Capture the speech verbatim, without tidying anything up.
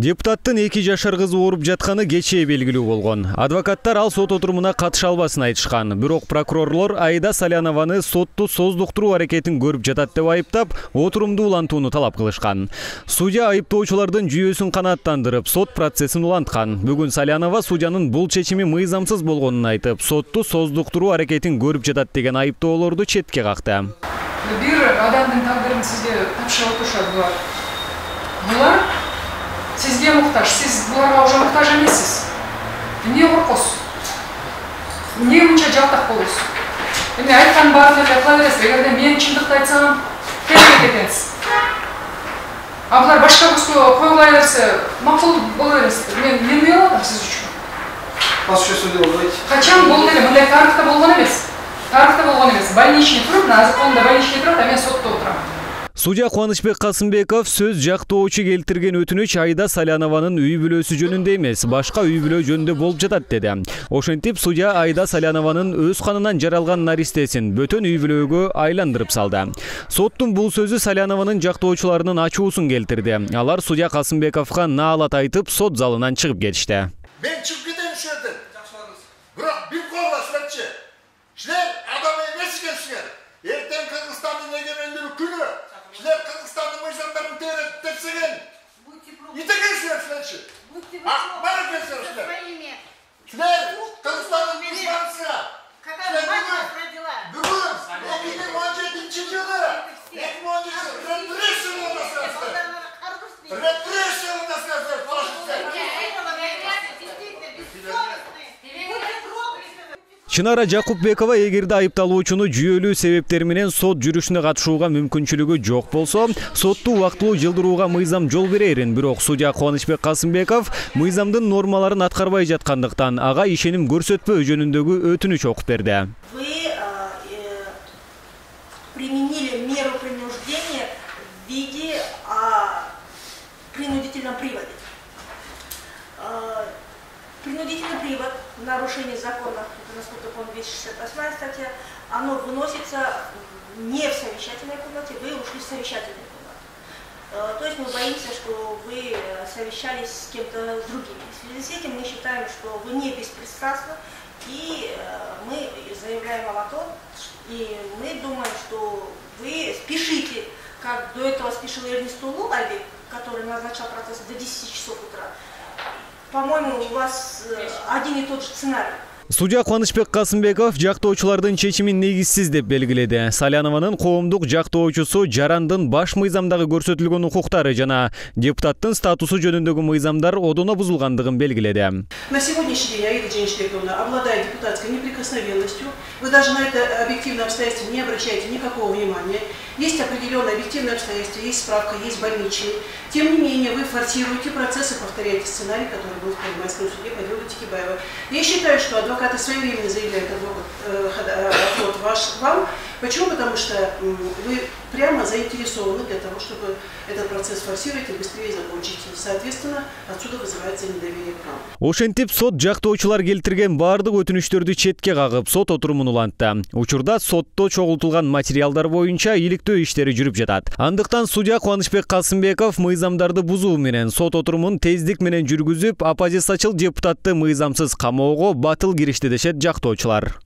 Депутаттын эки жашар кызы ооруп жатканы кечээ белгилүү болгон. Адвокаттар ал сот отурумуна катыша албасын айтышкан. Бирок прокурорлор Аида Салянованы сотту создуктуруу аракетин көрүп жатат деп айыптап, отурумду улантууну талап кылышкан. Судья айыптоочулардын жүйөсүн канааттандырып, сот процессин уланткан. Бүгүн Салянова судьянын бул чечими мыйзамсыз болгонун айтып, сотту создуктуруу аракетин көрүп жатат деген айыптоолорду четке какты. Бир адамдын тагдырын сизге тапшырып отурушат булар. Булар сизге муктаж, сиз буларга уже муктаж эмессиз. Эмне коркосуз? Эмне мынча жалтак болосуз? Эми айткан баарын эле кыла бересиз. Эгерде мен чындыкты айтсам, келбейт экенсиз. А булар башка көзгө коюла берсе, макул боло бересиз. Мен эмне кылып атам сиз үчүн? Башка сөйдө болбойт. Качан болду эле? Мындай тарыхта болгон эмес. Тарыхта болгон эмес. Больничный туруп, азыр колумда больничный турат, а мен сотто отурам. Судья Кубанычбек Касымбеков сөз жактоочу келтирген өтүнүч Аида Салянованын үй бүлөсү жөнүндө эмес, башка үй бүлө жөнүндө болуп жатат деди. Ошентип, судья Аида Салянованын өз канынан жаралган наристесин бөтөн үй бүлөгө айландырып салды. Соттун бул сөзү Салянованын жактоочуларынын ачуусун келтирди. Алар судья Касымбековго наалат айтып, сот залынан чыгып кетишти. Мен чыгып кетем ушул жерден. Бирок бир колбасыңарчы. Силер адам эмес экенсиңер. Эртең Кыргызстандын эгемендүүлүк күнү. Силер Кыргызстандын мыйзамдарын тейлеп тепсеген. Итегенсиңер силерчи. А, бара келсеңер силер. Силер Кыргызстандын мыйзамсына. Какая мать родила? Бүгүн эки миң он жетинчи жылы эки миң он жетинчи репрессия болдусуңар. Репрессия болдусуңар, фашисттер. Чынара Жакупбекова эгерде айыпталуучуну жүйөлүү себептер менен сот жүрүшүнө катышууга мүмкүнчүлүгү жок болсо, сотту убактылуу жылдырууга мыйзам жол берерин. Бирок судья Кубанычбек Касымбеков мыйзамдын нормаларын аткарбай жаткандыктан ага ишеним көрсөтпөө жөнүндөгү өтүнүч окуп берди. Вы применили меру принуждения в виде принудительном приводе. Принудительный привод, нарушение закона, это, насколько я помню, двести шестьдесят восьмая статья, оно выносится не в совещательной комнате, вы ушли в совещательную комнату. То есть мы боимся, что вы совещались с кем-то другим. В связи с этим мы считаем, что вы не беспристрастны, и мы заявляем вам о том, и мы думаем, что вы спешите, как до этого спешил Эрнест Улуаби, который назначал процесс до десяти часов утра. По-моему, у вас один и тот же сценарий. Судья Кубанычбек Касымбеков жактоочулардын чечимин негизсиз деп белгиледи. Салянованын коомдук жактоочусу жарандын баш мыйзамдагы көрсөтүлгөн укуктары жана депутаттын статусу жөнүндөгү мыйзамдар одоно бузулгандыгын белгиледи. На сегодняшний день Аида Дженишбековна обладает депутатской неприкосновенностью. Вы даже на это объективное обстоятельство не обращаете никакого внимания. Есть определенные объективные обстоятельства, есть справка, есть больничный. Тем не менее, вы форсируете процесс и повторяете сценарий, который был в Первомайском суде по делу Текибаева. Я считаю, что адвокаты своевременно заявляют отвод ваш вам. Почему? Потому что вы прямо заинтересованы для того, чтобы этот процесс форсировать и быстрее закончить. Соответственно, отсюда вызывается недоверие к вам. Ошентип сот жактоочулар келтирген баардык өтүнүчтөрдү четке кагып, сот отурумун улантты. Учурда сотто чогултулган материалдар боюнча иликтөө иштери жүрүп жатат. Андыктан судья Кубанычбек Касымбеков мыйзамдарды бузуу менен сот отурумун тездик менен жүргүзүп, оппозициячыл депутатты мыйзамсыз камоого батыл киришти дешет жактоочулар.